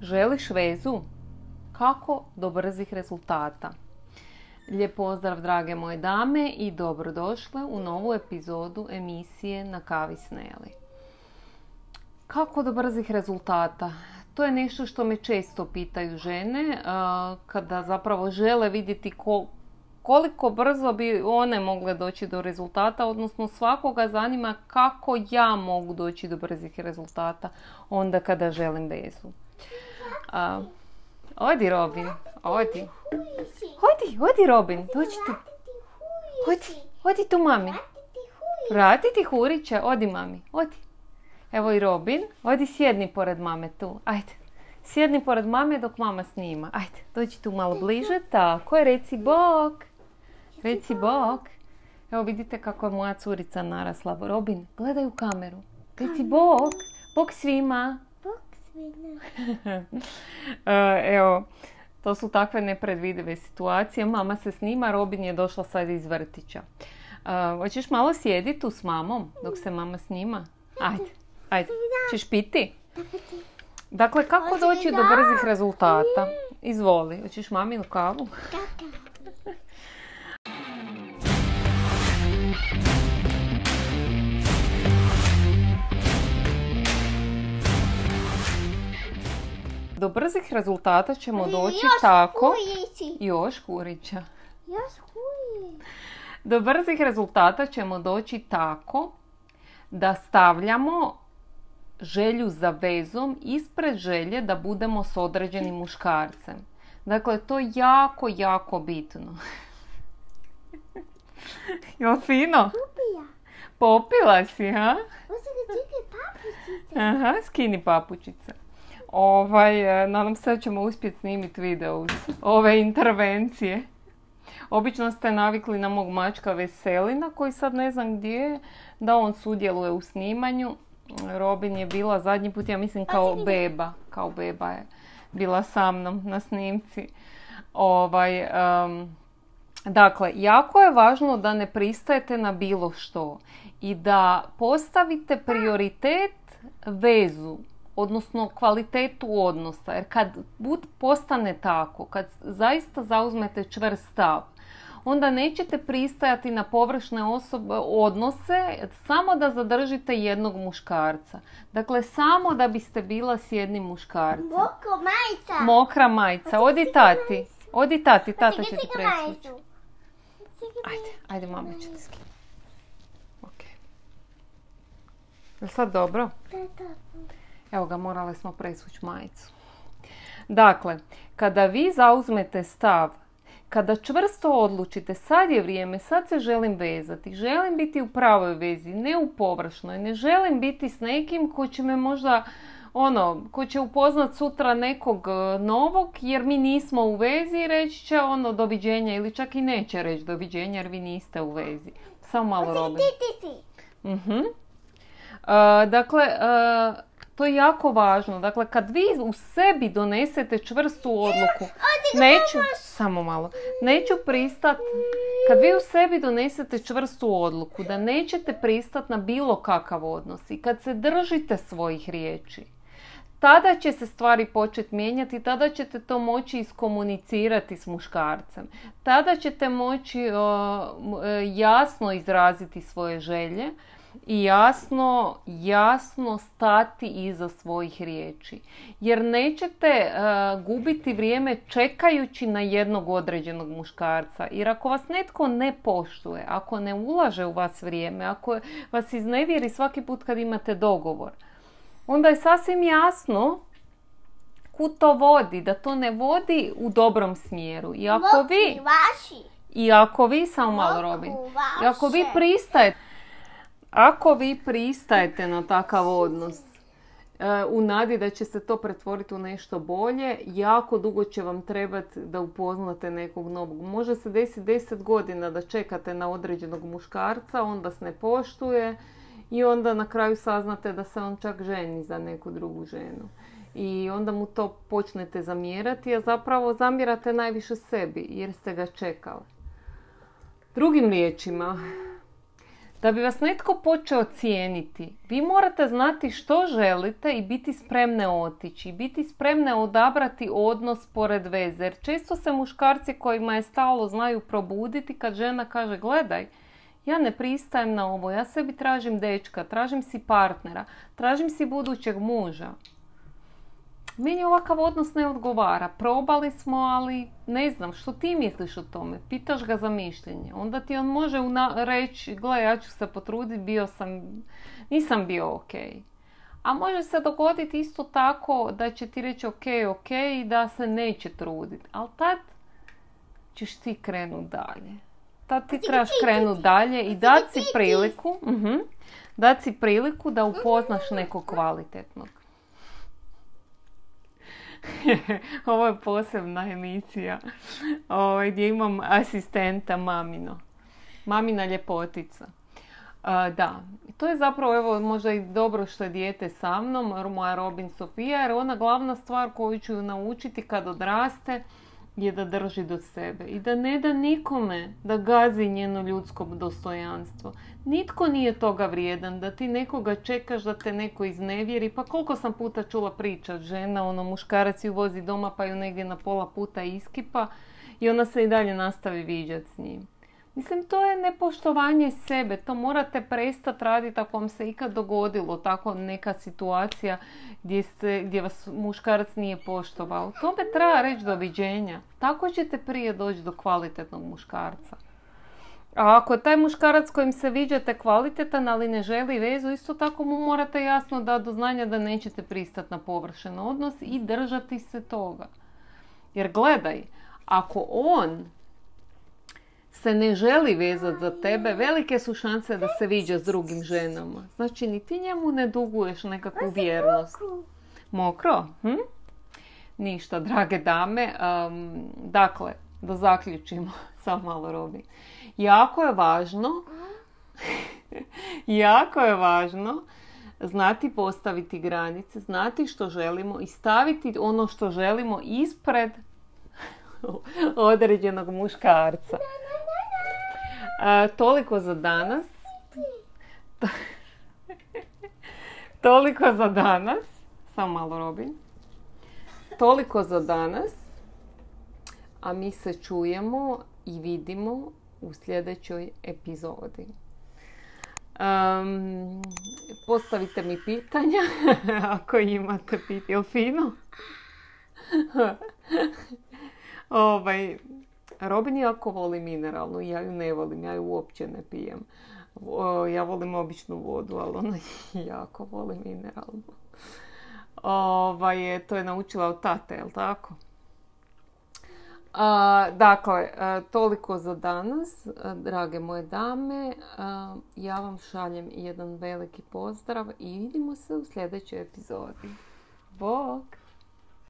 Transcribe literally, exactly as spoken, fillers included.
Želiš vezu? Kako do brzih rezultata? Lijep pozdrav drage moje dame i dobrodošle u novu epizodu emisije Na kavi s Neli. Kako do brzih rezultata? To je nešto što me često pitaju žene kada zapravo žele vidjeti ko, koliko brzo bi one mogle doći do rezultata, odnosno svakoga zanima kako ja mogu doći do brzih rezultata onda kada želim vezu. Uh, odi Robin, odi. Odi, odi Robin, dođi tu. Odi, odi tu mami. Vratiti Hurića, odi mami, odi. Evo i Robin, odi sjedni pored mame tu, ajde. Sjedni pored mame dok mama snima, ajde, dođi tu malo bliže, tako je, reci bok. Reci bok. Evo vidite kako je moja curica narasla. Robin, gledaj u kameru. Reci bok, bok svima. Evo, to su takve nepredvidive situacije. Mama se snima, Robin je došla sad iz vrtića. Hoćeš malo sjediti tu s mamom dok se mama snima? Ajde, ajde. Češ piti? Dakle, kako doći do brzih rezultata? Izvoli, hoćeš maminu kavu? Do brzih rezultata ćemo doći još tako... Hurići. Još Hurića. Još Hurić. Do brzih rezultata ćemo doći tako da stavljamo želju za vezom ispred želje da budemo s određenim muškarcem. Dakle, to je jako, jako bitno. Jel fino? Popija. Popila si, ha? Osim da čekaj papučice. Aha, skini papučice. Ovaj, nadam se da ćemo uspjeti snimiti video uz ove intervencije. Obično ste navikli na mog mačka Veselina koji sad ne znam gdje je, da on sudjeluje u snimanju. Robin je bila zadnji put, ja mislim, kao beba. Kao beba je bila sa mnom na snimci. Ovaj, um, dakle, jako je važno da ne pristajete na bilo što i da postavite prioritet vezu, odnosno kvalitetu odnosa. Jer kad bud postane tako, kad zaista zauzmete čvrst stav, onda nećete pristajati na površne osobe, odnose samo da zadržite jednog muškarca. Dakle, samo da biste bila s jednim muškarcem. Mokra majica. Mokra majica. Odi tati. Odi tati, tata će ti presvući. Ajde, ajde, mama će ti skinuti. Ok. Je li sad dobro? Evo ga, morali smo presvući majicu. Dakle, kada vi zauzmete stav, kada čvrsto odlučite, sad je vrijeme, sad se želim vezati, želim biti u pravoj vezi, ne u površnoj, ne želim biti s nekim ko će me možda, ono, ko će upoznat sutra nekog novog, jer mi nismo u vezi i reći će ono doviđenja, ili čak i neće reći doviđenja jer vi niste u vezi. Samo malo Robin. Ti, ti, ti. Uh-huh. Uh, dakle, uh, to je jako važno. Dakle, kad vi u sebi donesete čvrstu odluku, neću, samo malo, neću pristat, kad vi u sebi donesete čvrstu odluku da nećete pristat na bilo kakav odnos i kad se držite svojih riječi, tada će se stvari početi mijenjati, tada ćete to moći iskomunicirati s muškarcem. Tada ćete moći uh, jasno izraziti svoje želje i jasno, jasno stati iza svojih riječi. Jer nećete uh, gubiti vrijeme čekajući na jednog određenog muškarca. Jer ako vas netko ne poštuje, ako ne ulaže u vas vrijeme, ako vas iznevjeri svaki put kad imate dogovor, onda je sasvim jasno kud to vodi, da to ne vodi u dobrom smjeru. I ako vi, i ako vi samo malo Robin, i ako vi pristajete, ako vi pristajete na takav odnos u nadi da će se to pretvoriti u nešto bolje, jako dugo će vam trebati da upoznate nekog novog. Može se desiti deset godina da čekate na određenog muškarca, on vas ne poštuje i onda na kraju saznate da se on čak ženi za neku drugu ženu. I onda mu to počnete zamjerati, a zapravo zamjerate najviše sebi jer ste ga čekali. Drugim riječima, Da bi vas netko počeo cijeniti, vi morate znati što želite i biti spremne otići. Biti spremne odabrati odnos pored veze. Jer često se muškarci kojima je stalo znaju probuditi kad žena kaže gledaj, ja ne pristajem na ovo, ja sebi tražim dečka, tražim si partnera, tražim si budućeg muža. Meni ovakav odnos ne odgovara. Probali smo, ali ne znam, što ti misliš o tome? Pitaš ga za mišljenje. Onda ti on može una- reći, gle, ja ću se potruditi, bio sam, nisam bio ok. A može se dogoditi isto tako da će ti reći ok, ok i da se neće truditi. Ali tad ćeš ti krenut dalje. Tad ti trebaš krenut dalje i dati si priliku, uh-huh, dati si priliku da upoznaš nekog kvalitetnog. Ovo je posebna emisija ovaj, gdje imam asistenta mamino. Mamina ljepotica. A, da, to je zapravo evo, možda i dobro što je dijete sa mnom, moja Robin Sofija, jer ona glavna stvar koju ću ju naučiti kad odraste je da drži do sebe i da ne da nikome da gazi njeno ljudsko dostojanstvo. Nitko nije toga vrijedan, da ti nekoga čekaš da te neko iznevjeri. Pa koliko sam puta čula pričat, žena, ono, muškarac ju vozi doma pa ju negdje na pola puta iskipa i ona se i dalje nastavi viđat s njim. Mislim, to je nepoštovanje sebe, to morate prestati raditi ako vam se ikad dogodilo tako neka situacija gdje, se, gdje vas muškarac nije poštovao. Tome treba reći doviđenja. Tako ćete prije doći do kvalitetnog muškarca. A ako je taj muškarac kojim se viđate kvalitetan, ali ne želi vezu, isto tako mu morate jasno dati do znanja da nećete pristati na površen odnos i držati se toga. Jer gledaj, ako on se ne želi vezati za tebe, velike su šanse da se viđa s drugim ženama. Znači, ni ti njemu ne duguješ nekakvu vjernost. Mokro? Hm? Ništa, drage dame. Um, dakle, da zaključimo. Samo malo Robi. Jako je važno jako je važno znati postaviti granice, znati što želimo i staviti ono što želimo ispred određenog muškarca. A, toliko za danas. Toliko za danas. Samo malo Robin. Toliko za danas. A mi se čujemo i vidimo u sljedećoj epizodi. Um, postavite mi pitanja ako imate pitanja. Jel fino? ovaj, Robin jako voli mineralnu, ja ju ne volim, ja ju uopće ne pijem. O, ja volim običnu vodu, ali ona jako voli mineralnu. Ovaj, to je naučila od tate, jel tako? A, dakle, a, toliko za danas, a, drage moje dame. A, ja vam šaljem jedan veliki pozdrav i vidimo se u sljedećoj epizodi. Bog!